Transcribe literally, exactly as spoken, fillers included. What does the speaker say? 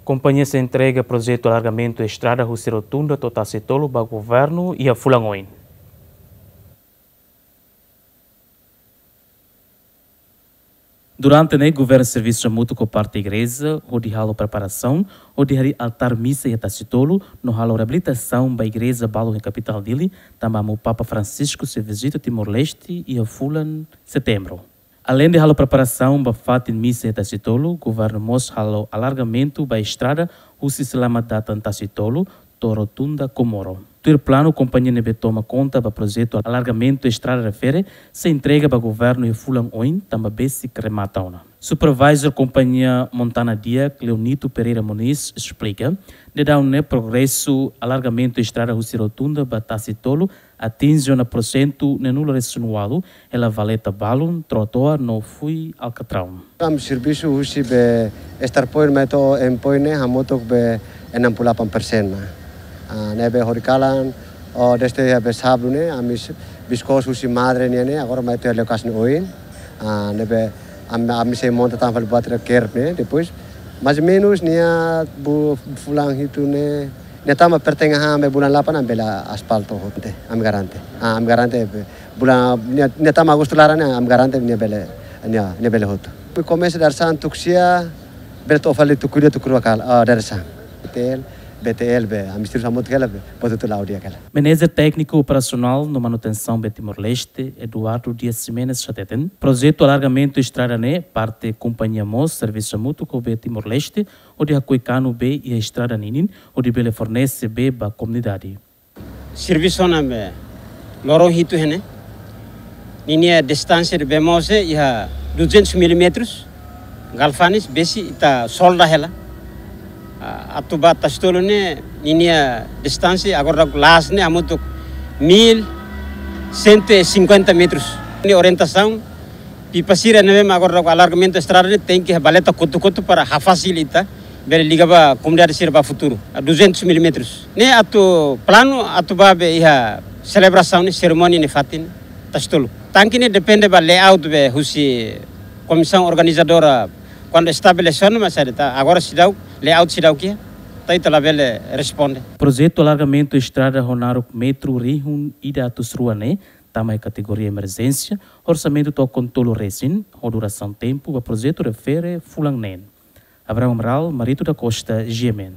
Kompañia sei entrega projetu alargamentu estrada husi Rotunda to'o Tasi Tolu ba governu iha fulan oin. Durante ne'e, governu servisu hamutuk ho parte igreja hodi halo preparasaun hodi harii altár misa iha Tasi Tolu no halo reabilitasaun ba igreja balun iha kapitál Dili, tanba Amu Papa Francisco sei vizita Timor-Leste iha fulan Setembru. Aleinde halo preparasaun ba fatin misa iha Tasi Tolu, governu mós halo alargamentu ba estrada husi Selamat Datang Tasi Tolu to'o Rotunda Comoro. Tuir planu, kompañia ne'ebé toma konta ba projetu alargamentu estrada refere sei entrega ba governu iha fulan oin, tanba besik remata ona. Supervisor kompañia Montana Diak, Leonito Pereira Moniz, esplika, daudaun ne'e progresu alargamentu estrada husi Rotunda ba Tasi Tolu atinje ona porsentu neenulu resin ualu, hela valeta balun, trotoar no fui alkatraun. Ami servisu husi be start point mai to'o end point ne'e hamutuk be enam puluh delapan persen ona. Ah, ne'ebé horikalan, oh, desde iha be sábadu ne'e, ami s-, biskus husi madre nian ne'e, agora mai to'o lokasi ne'e oin. Ah, ne'ebé ami, ami sei monta tan fali buat ida kerb ne'e, depois, mais ou menus, nia bu-, fulan hitu ne'e, nia tama pertengahan be bulan delapan ami bele aspaltu hotu, ami garante. Ah, ami garante be, bulan, nia, nia tama Agostu laran ne'e, ami garante nia bele, nia, nia bele hotu. Komesa dadeer-saan tuku sia, bele to'o fali tuku ida tuku rua kala, ah, dadeer-saan. B T L, B T L be, ami servisu hamutuk hela be, buat hotu la'o di'ak hela. Manajer Tékniku Operasionál no Manutensaun be Timor-Leste, Eduardo Dias Ximenes hateten, projetu alargamentu estrada ne'e parte kompañia mós servisu hamutuk ho be Timor-Leste, hodi hakoi kanu bee iha estrada ninin, hodi bele fornese bee ba komunidade. Servisu ona be loron hitu iha ne'e. Ninia distánsia de bee mós iha duzentos milímetros. Galvanis, besik ita solda hela. Ah, atu ba Tasi Tolu ne'e, ninia distánsia agora daudaun la'ós ne'e hamutuk mil cento e cinquenta metros. Ne'e orientasaun, pipa sira ne'ebé mak agora daudaun alargamentu estrada ne'e tenke iha valeta kotu-kotu para hafasil ita bele liga ba komunidade sira ba futuru. Ah, duzentos milímetros. Ne'e atu planu atu ba be iha selebrasaun ne'e, serimónia ne'e fatin Tasi Tolu. Tanke ne'e depende ba layout be husi komisaun organizadora kuandu estabelese ona, mas ada ta. Agora seidauk, layout seidauk iha, ta ita labele responde. Projetu alargamentu estrada ho naruk metru rihun ida atus rua ne'e tama iha kategoria emerjénsia, orsamentu to'o kontolu resin, ho durasaun tempu ba projetu refere fulan neen. Abraham Amaral, Marito da Costa, G M N.